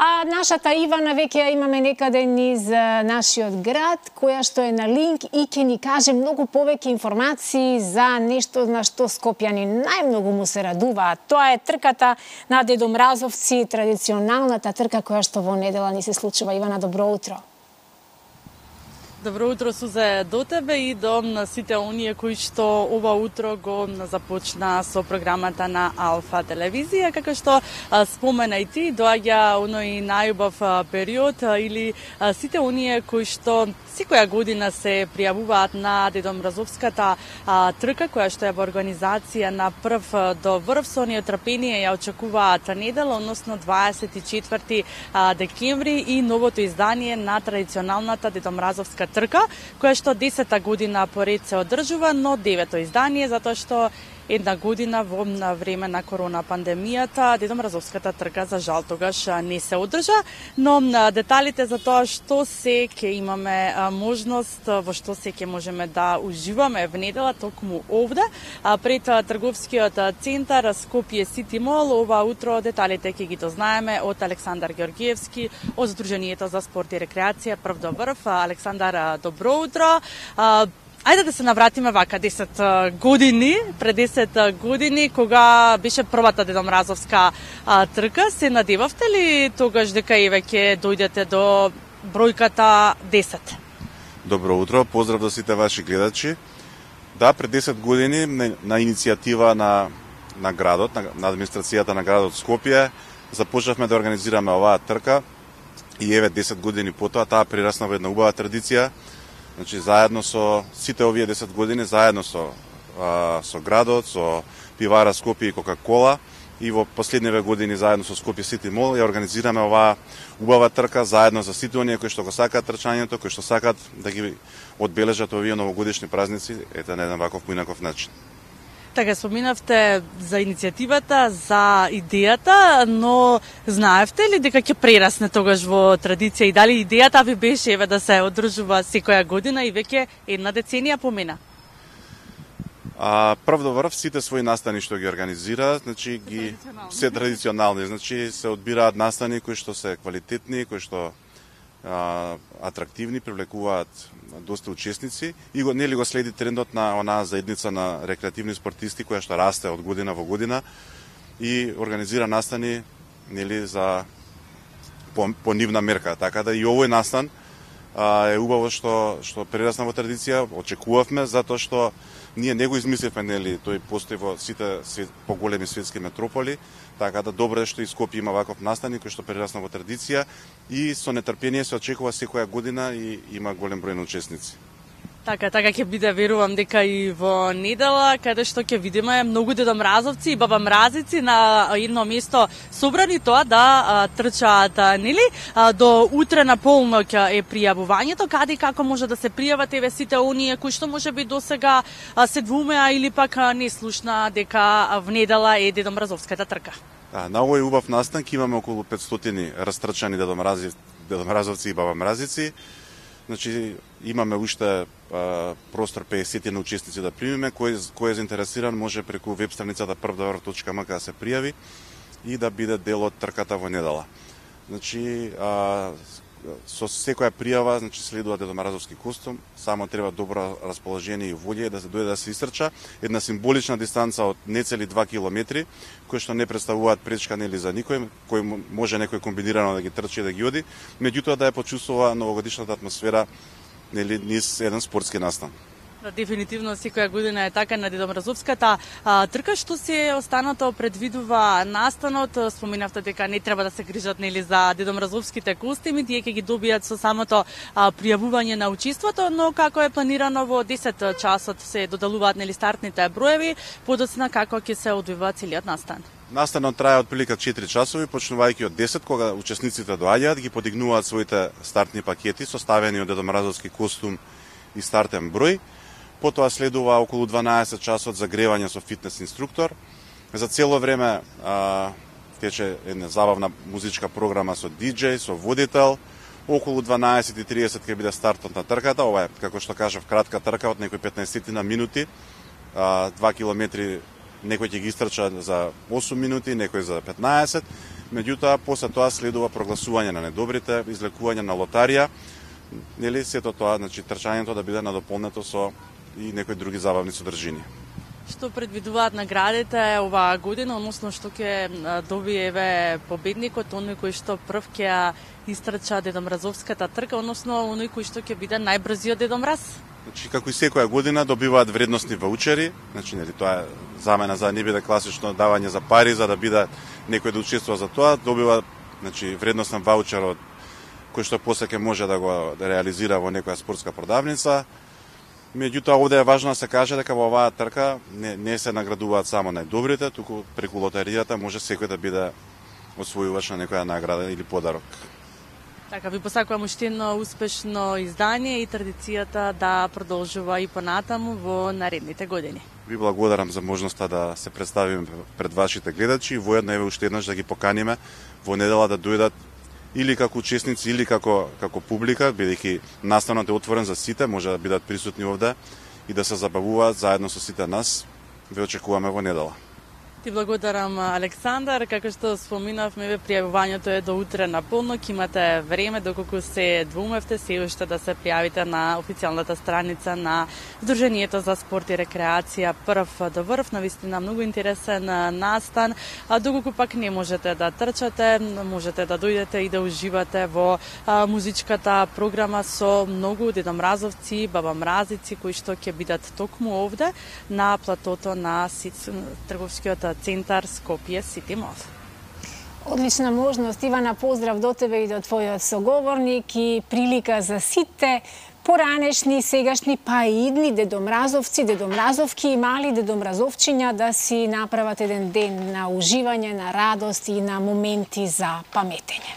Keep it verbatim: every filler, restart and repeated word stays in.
А нашата Ивана веќе ја имаме некаде низ нашиот град, која што е на линк и ќе ни каже многу повеќе информации за нешто на што скопјани најмногу му се радуваат. Тоа е трката на Дедо Мразовци, традиционалната трка која што во недела ни се случува. Ивана, добро утро. Добро утро, Сузе, до тебе и до сите оние кои што ова утро го започна со програмата на Алфа телевизија. Како што спомена и ти, доаѓа оној најубав период или сите оние кои што секоја година се пријавуваат на Дедо Мразовската трка, која што е во организација на прв до врв, со неотрпение ја очекуваат недела, односно дваесет и четврти декември и новото издание на традиционалната Дедо Мразовска трка, која што десета година поред се одржува, но девето издание, затоа што една година во време на корона пандемијата Дедо Мразовската трка за жал тогаш не се одржа, но деталите за тоа што се ќе имаме можност, во што се ќе можеме да уживаме в недела токму овде пред трговскиот центар Скопје Сити Мол. Ова утро деталите ќе ги дознаеме од Александар Георгиевски од Сдруженијето за спорт и рекреација прв до врв. Александар, добро утро. Ајде да се навратиме вака десет години, пред десет години, кога беше првата Дедо Мразовска а, трка, се надевавте ли тогаш дека и веќе дојдете до бројката десет? Добро утро, поздрав до сите ваши гледачи. Да, пред десет години на иницијатива на, на градот, на, на администрацијата на градот Скопје, започнавме да организираме оваа трка и еве десет години потоа таа прерасна во една убава традиција. Значи, заедно со сите овие десет години, заедно со, а, со градот, со пивара Скопје и Кока-кола и во последниве години заедно со Скопје Сити Мол ја организираме оваа убава трка заедно за сите оние кои што го сакаат трчањето, кои што сакаат да ги одбележат овие новогодишни празници, ете на еден ваков поинаков начин. Така, споминавте за иницијативата, за идејата, но знаевте ли дека ќе прерасне тогаш во традиција и дали идејата ви беше еве да се одржува секоја година и веќе една деценија помина? А, прв до врв сите своји настани што ги организира, значи ги се традиционални, значи се одбираат настани кои што се квалитетни, кои што а, атрактивни, привлекуваат доста учесници и го нели го следи трендот на онаа заедница на рекреативни спортисти која што расте од година во година и организира настани нели за по, по нивна мерка, така да и овој настан а, е убаво што што прерасна во традиција, очекувавме затоа што ние не го измисливме, нели, тој постои во сите свет, поголеми светски метрополи, така да добро е што и Скопје има ваков настан кој што прерасна во традиција и со нетрпение се очекува секоја година и има голем број на учесници. Така, така ќе биде, верувам дека и во недела, каде што ќе видиме многу Дедо Мразовци и баба Мразици на едно место собрани тоа да а, трчаат, нели? А, до утре на полноќ е пријавувањето, каде и како може да се пријават еве сите оние кои што можеби досега а, се двумеа или пак а, не слушна дека в недела е Дедо Мразовската трка. Да, на овој убав настан ќе имаме околу петстотини растрчани Дедо Мрази, Дедо Мразовци и баба Мразици. Значи, имаме уште а, простор пеесет на учесници да примиме, кој, кој е заинтересиран може преку веб страницата прв до врв точка ем ка да се пријави и да биде дел од трката во недела. Значи, а, со секоја пријава, значи следува Дедо Мразовски костум, само треба добро расположение и волја да се дојде да се истрча една символична дистанца од нецели два километри, кои што не представуваат пречка нели за никој, кој може некој комбинирано да ги трчи и да ги оди, меѓутоа да ја почувствува новогодишната атмосфера нели низ еден спортски настан. Да, дефинитивно секоја година е така на Дедо Мразовската а, трка. Што се останато предвидува настанот? Споминавте дека не треба да се грижат нели за Дедо Мразовските костими, тие ќе ги добијат со самото а, пријавување на учеството, но како е планирано во десет часот се доделуваат нели стартните броеви, подоцна како ќе се одвива целиот настан. Настанот трае отприлика четири часови, почнувајќи од десет, кога учесниците доаѓаат, ги подигнуваат своите стартни пакети составени од Дедо Мразовски костум и стартен број. Потоа следува околу дванаесет часот загревање со фитнес инструктор. За цело време а, тече една забавна музичка програма со диџеј, со водител. Околу дванаесет и тридесет ќе биде стартот на трката. Ова е, како што кажав, кратка трка од некои петнаесет на минути. А, два километри некој ќе ги истрча за осум минути, некој за петнаесет. Меѓутоа, после тоа следува прогласување на недобрите, излекување на лотарија, нели сето тоа, значи трчањето да биде надополнето со и некои други забавни содржини. Што предвидуваат наградите оваа година, односно што ќе добие еве победникот, оној кој што прв ќе истрча Дедомразовската трка, односно оној кој што ќе биде најбрзиот Дедомраз? Значи, како и секоја година добиваат вредностни ваучери, значи нели тоа е замена за не биде класично давање за пари, за да биде некој да учествува за тоа, добива значи вредностен ваучер од кој што после ќе може да го да реализира во некоја спортска продавница. Меѓутоа, овде е важно да се каже дека во оваа трка не, не се наградуваат само најдобрите, туку преку лотаријата може секој да биде освојувач на некоја награда или подарок. Така, ви посакувам уште едно успешно издание и традицијата да продолжува и понатаму во наредните години. Ви благодарам за можноста да се представиме пред вашите гледачи и воедно еве уште еднаш да ги поканиме во недела да дојдат или како учесници или како како публика, бидејќи настанот е отворен за сите, може да бидат присутни овде и да се забавуваат заедно со сите нас. Ве очекуваме во недела. Ти благодарам, Александар. Како што споминавме, ве пријавувањето е до утре на полнок. Имате време, доколку се двумевте, се уште да се пријавите на официјалната страница на Сдруженијето за спорт и рекреација Прв до врв. Навистина многу интересен настан. А доколку пак не можете да трчате, можете да дојдете и да уживате во а, музичката програма со многу дедомразовци, бабамразици кои што ќе бидат токму овде на платото на Сиц, трговскиот центар Скопје Сити Мол. Одлична можност, Ивана, поздрав до тебе и до твојот соговорник и прилика за сите поранешни, сегашни, па и идни дедомразовци, дедомразовки и мали дедомразовчиња да си направат еден ден на уживање, на радост и на моменти за паметење.